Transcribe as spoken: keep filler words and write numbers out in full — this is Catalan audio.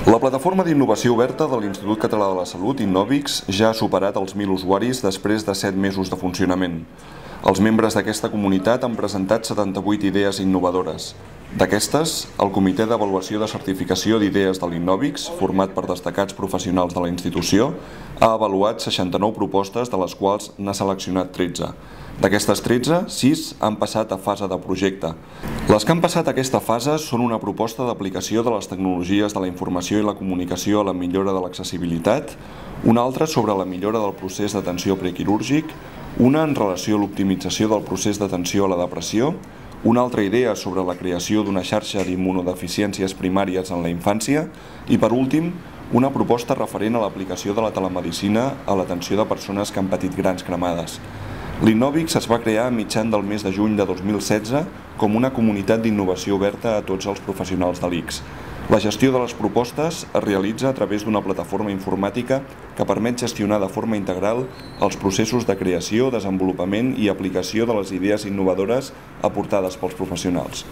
La plataforma d'innovació oberta de l'Institut Català de la Salut, Innovix, ja ha superat els mil usuaris després de set mesos de funcionament. Els membres d'aquesta comunitat han presentat setanta-vuit idees innovadores. D'aquestes, el Comitè d'Avaluació de Certificació d'Idees de l'Innovix, format per destacats professionals de la institució, ha avaluat seixanta-nou propostes, de les quals n'ha seleccionat tretze. D'aquestes tretze, sis han passat a fase de projecte. Les que han passat a aquesta fase són una proposta d'aplicació de les tecnologies de la informació i la comunicació a la millora de l'accessibilitat, una altra sobre la millora del procés d'atenció prequirúrgic, una en relació a l'optimització del procés d'atenció a la depressió, una altra idea sobre la creació d'una xarxa d'immunodeficiències primàries en la infància i, per últim, una proposta referent a l'aplicació de la telemedicina a l'atenció de persones que han patit grans cremades. L'Innovix es va crear a mitjan del mes de juny de dos mil setze com una comunitat d'innovació oberta a tots els professionals de l'I C S. La gestió de les propostes es realitza a través d'una plataforma informàtica que permet gestionar de forma integral els processos de creació, desenvolupament i aplicació de les idees innovadores aportades pels professionals.